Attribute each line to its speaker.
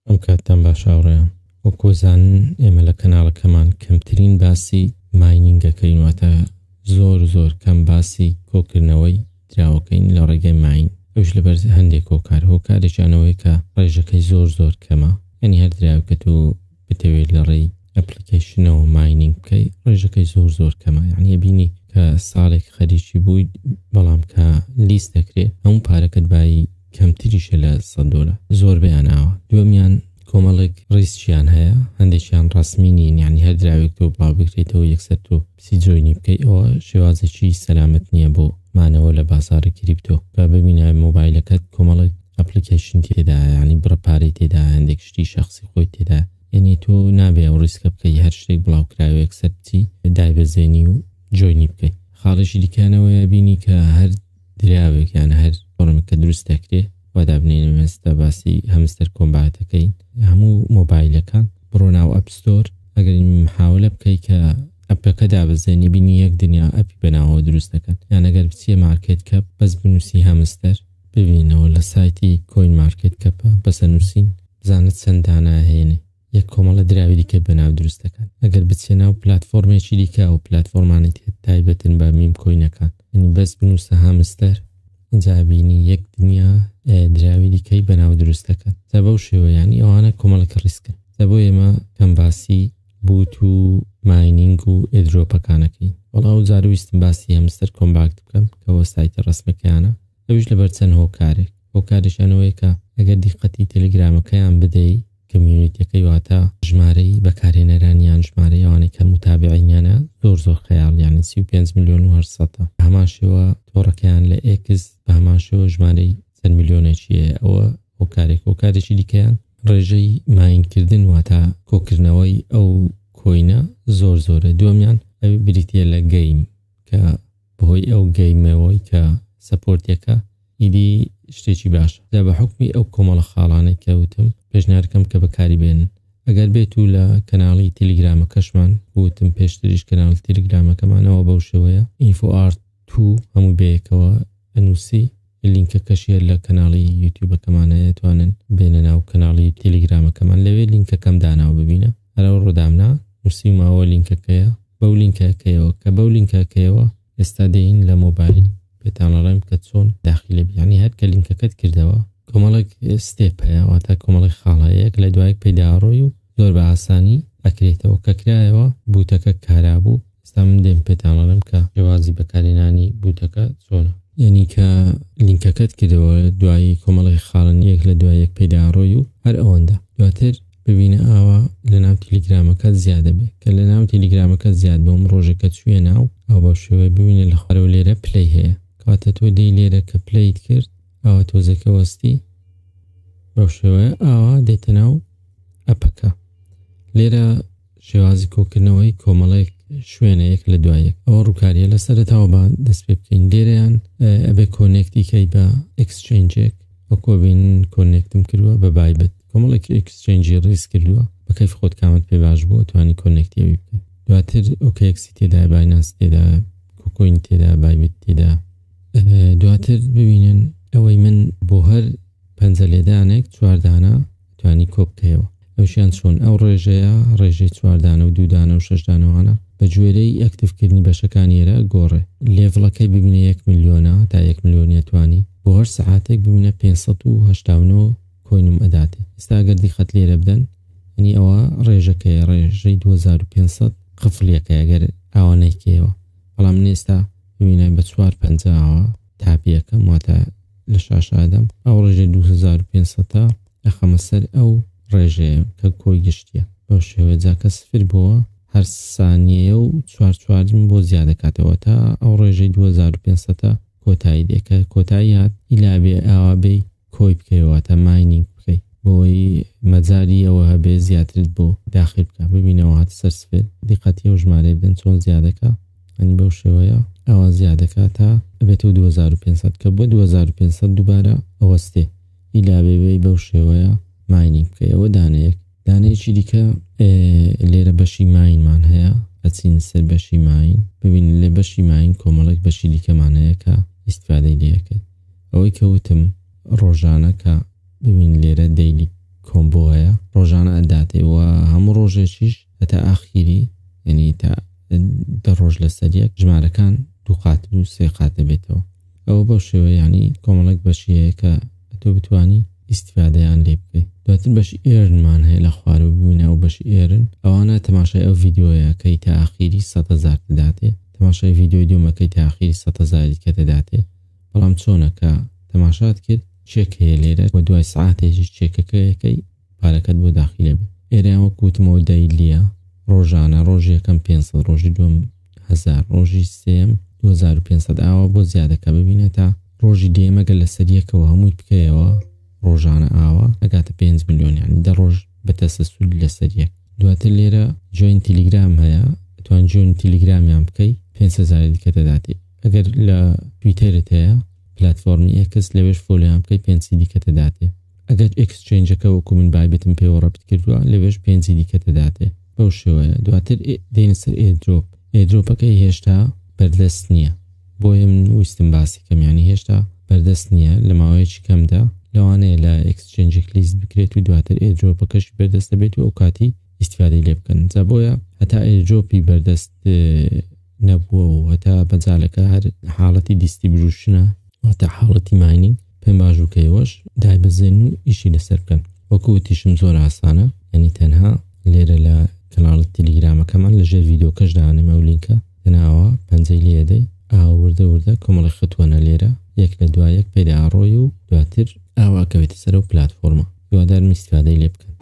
Speaker 1: ئەم کاتتان باش هاوڕێیان. وەک ئەزانن ئێمە لە کەناڵەکەمان کەمترین باسی mining ئەکەین واتە زۆر زۆر کەم باسی کۆکردنەوەی دراوەکەین لە ڕێگەی mine ئەوش لەبەر هەندێک هۆکار هۆکارێکیان ئەوەیە کە ڕێژەکەی زۆر زۆر کەمە یعنی هەر دراوێک کە تۆ بتەوێت لە ڕێی application ەوە mining بکەی ڕێژەکەی زۆر زۆر کەمە یعنی بینی کە ساڵێک خەریکی بووی بەڵام کە list دەکرێ هەموو پارەکەت بایی کەمتریشە لە 100 دۆلار زۆربەیان ئاوا. دووەمیان کۆمەڵێک risk یان هەیە هەندێکیان ڕەسمی نین یعنی هەر دراوێک تۆ بڵاو بکرێتەوە یەکسەر تۆ بچی join ی بکەی ئەوە شێوازێکی سەلامەت نییە بۆ مانەوە لە بازاڕی crypto. با ببینە مۆبایلەکەت کۆمەڵێک application تێدایە یعنی بڕە پارەی تێدایە هەندێک شتی شەخسی خۆی تێدایە یعنی تۆ نابێ ئەو risk ە بکەی هەر شتێک بڵاو کراوە یەکسەر بچی دایبەزێنی و join ی بکەی. خاڵێکی دیکەیانەوەیە بینی کە هەر دراوێک یان هەر فۆرمێک کە دروست دەکرێ وا دابنێین ئێستا باسی Hamster Kombat ەکەین هەموو مۆبایلەکان بڕۆ ناو App Store ئەگەر محاولە بکەی کە ئەپەکە دابەزێنی بینی یەک دنیا ئەپی بەناوەوە دروست دەکەن یان ئەگەر بچیە market cap بەس بنووسی هەمستەر ببینەوە لە سایتی coin market cap ە بەسە نووسین بزانە چەند دانە هێنێ یەک کۆمەڵە دراوی دیکە بەناو دروست دەکەن ئەگەر بچیە ناو پلاتفۆرمێکی دیکە ئەو پلاتفۆرمانەی تایبەتن بە meme coin ەکان یعنی بەس بنووسە هامستەر ئینجا بینی یەک دنیا دراوی دیکەی بەناو دروست دەکەن جا بەو شێوە یعنی ئەوانە کۆمەڵێک risk ن جا بۆ ئێمە کەم باسی bot و mining و airdrop ەکانەکەین وەڵا ئەو جار ویستم باسی Hamster Kombat بکەم کەەوە سایتە ڕسمەکەیانە ئەویش لەبەر چەند هۆکارێک هۆکارێکیان ئەوەیە کە ئەگەر دیقەتی تەلەگرامەکەیان بدەی community ەکەی واتە ژمارەی بەکارهێنەران یان ژمارەی ئەوانەی کە متابعینیانە زۆر زۆر خەیاڵ یعنی 35 ملیۆن و 800 بە هەمان شێوە تۆڕەکەیان لە ئێکس بە هەمان شێوە ژمارەی چەند ملیۆنێکی هەیە ئەوە هۆکارێک هۆکارێکی دیکەیان ڕێژەی mine کردن واتە کۆکردنەوەی ئەو coin ە زۆر زۆرە دووەمیان ئەوی بریتە لە game کە بەهۆی ئەو game ەوەی کە support ێکە ئیدی شتێکی باشە جا بە حوکمی ئەو کۆمەڵە خاڵانەی کە وتم پێشنیارەکەم کە بەکاری بێنن ئەگەر بێت و لە کەناڵی تیلیگرامەکەشمان وتم پێشتریش کەناڵی تیلیگرامەکەمانەوە بەو شێوەیە ئینفۆ ئارت تو هەموو بەیەکەوە ئەنووسی لینکەکەشی هەر لە کەناڵی یوتیوبەکەمان هەیە توانن بێنە ناو کەناڵی تیلیگرامەکەمان لەوێ لینکەکەم داناوە ببینە هەر ئەو ڕۆدامنا نووسیومەوە لینکەکەیە بەو لینکەکەیەوە کە بەو لینکەکەیەوە ئێستا دێین لە مۆبایل پێتان ئەڵێم کە چۆن داخیلە بی یعنی هەر کە لینکەکەت کردەوە کۆمەڵێک step هەیە واتە کۆمەڵێک خاڵ هەیە یەک لە دوایەک پێداڕۆی و زۆر بە ئاسانی ئەکرێتەوە کە کرایەوە bot ەکە کارا بوو ئێستا من دێم پێتان ئەڵێم کە شێوازی بەکارهێنانی bot ەکە چۆنە یعنی کە لینکەکەت کردەوە دوایی کۆمەڵێک خاڵن یەک لە دوای یەک پێداڕۆی و هەر ئەوەندە دواتر ببینە ئاوا لە ناو تیلیگرامەکەت زیاد دەبێ کە لە ناو تیلیگرامەکەت زیاد بووم ڕۆژێک کە چوویە ناو ئەو بەو شێوەیە ببینە لە خوارەوە لێرە play هەیە کەواتە تۆ دێی لێرە کە play ت کرد ئاوا تۆزێکە وەستی بەو شێوەیە ئاوا دێتە ناو ئەپەکە لێرە شێوازی کۆکردنەوەی کۆمەڵێک شوێنە یەک لە دوای یەک ئەوە ڕووکاریە لە سەرەتاوە با دەست پێ بکەین لێرەیان ئەبێ connect ی کەی بە exchange ێک وەکۆ بین connect م کردووە بە Bybit کۆمەڵێک exchange ی ڕیز کردووە بە کەیف خۆت کامت پێ باش بووە توانی connect ی ئەوی بکەیت دواتر OKX ی تێدا Binance تێدا KuCoin تێدا Bybit تێدا دواتر ببینن ئەوەی من بۆ هەر پەنجە لێدانێک چواردانە توانی کۆ بکەیەوە ئەوشیان چۆن ئەو ڕێژەیە ڕێژەی چواردانە و دوودانە و شەشدانەوانە بە گوێرەی active کردنی بەشەکانی ئێرە گۆڕێ level ەکەی ببینە یەک ملیۆنە تا یەک ملیۆنیە توانی بۆ هەر سەعاتێک ببینە 589 coin م ئەداتێ ئێستا ئەگەر دیقەت لێرە بدەن یعنی ئەوە ڕێژەکەیە ڕێژەی 2500 قفڵیەکەی ئەگەر ئاوا نەیکەیەوە بەڵام من ئێستا ببینە بە چوار پەنجا ئاوا tap یەکەم واتە لە شاشە ئەدەم ئەو ڕێژەی 2500 ئەخەمە سەر ئەو ڕێژەیە کە کۆی گشتیە بەو شێوەیە جا کە سفر بۆوە هەر سانیەیە و چوار چوارم بۆ زیاد دەکاتەوە تا ئەو ڕێژەی 2500 کۆتایی دێ کە کۆتایی هات ئیلا بێ ئاوا بێی کۆی بکەیەوە واتە mining بکەی بۆی مەجالی ئەوە هەبێ زیاترت بۆ داخل بکە ببینەوە هاتە سەر سفر دیقەتی ئەو ژمارەی بدەن چۆن زیادەکە ئەنی بەو شێوەیە ئەوە زیادەکە تا ئەبێتەوە 2500 کە بۆ 2500 دووبارە ئەوەستێ ئیلا بێ بێی بەو شێوەیە mining بکەی ئەوە دانەیەک دانەیەکی دیکە لێرە بەشی mine مان هەیە ئەچین سەر بەشی mine ببین لە بەشی mine کۆمەڵێک بەشی دیکەمان هەیە کە ئیسیفادەی لەکەیت ئەوەی کە وتم ڕۆژانە کە ببین لێرە daily combo هەیە. ڕۆژانە ئەداتێ و هەموو ڕۆژێکیش هەتا ئاخیری یعنی تا 10 ڕۆژ لەسەر یەک ژمارەکان دوو قات و سێ قات دەبێتەوە. ئەوە بەو شێوە یعنی کۆمەڵێک بەشی هەیە کە تۆ بتوانی ئیستیفادەیان لێ بکەیت. دواتر بەشی earn مان هەیە لە خوارەوە ببینە ئەو بەشی earn، ئەوانە تەماشای ئەو ڤیدیۆیەکەی تا ئاخیری 100,000 دەداتێ، تەماشای ڤیدیۆی دووەمەکەی تا ئاخیری 100,000 کە دەداتێ. بەڵام چۆنە کە تەماشات کرد چێک هەیە لێرە و دوای سعاتێکی چێکەکەیەکەی پارەکەت بۆ داخیلە بێ. ئێرەیان وەک وتمەوە daily ە ڕۆژانە، ڕۆژی یەکەم 500، ڕۆژی دووەم 1000، ڕۆژی سێم 2500، ئاوا بۆ زیادەکە ببینە تا ڕۆژی دێم ئەگەر لەسەر یەکەوە هەمووی بکەیەوە ڕۆژانە ئاوا ئەگاتە 5 ملیۆن، یعنی 10 ڕۆژ بە تەسەسول لەسەر یەک. دواتر لێرە join تیلیگرام هەیە، توان join تیلیگرامیان بکەی 5000 دیکە دەداتێ. ئەگەر لە تویتەرت هەیە پلتفۆرمی ئێکس لەوێش follow یان بکەی 5 دیکە دەداتێ. ئەگەر exchange ەکە وەکو من بایبتم پێوە ڕەبت کردووە لەوێش 5 دیکە دەداتێ بەو شێوەیە. دواتر دێنە سەر airdrop، airdrop ەکەی هێشتا بەردەست نییە، بۆیە من ویستم باسی کەم، یعنی هێشتا بەردەست نییە، لە ماوەیەکی کەمدا لەوانەیە لە exchange ێک list بکرێت و دواتر airdrop ەکەش بەردەست دەبێت و ئەو کاتی ئیستیفادەی لێ بکەن. جا بۆیە هەتا airdrop ی بەردەست نەبووە و هەتا بەجالەکە هەر حاڵەتی distribution ە واتە حاڵەتی mining، پێم باش بوو کە ئێوەش دایبەزێن و ئیشی لەسەر بکەن. وەکو وتیشم زۆر ئاسانە، یعنی تەنها لێرە لە کەناڵی تەلیگرامەکەمان لەژێر ڤیدیۆکەش دانێم ئەو لینکە، تەنها پەنجەی لێدەی ئاوا وردە وردە کۆمەڵی خەتوەنە لێرە یەک لە دوای یەک پێدا ئاڕۆی و دواتر ئاوا کەوێتە سەر ئەو پلتفۆرمە. هیوادارم ئیستیفادەی لێ بکەن.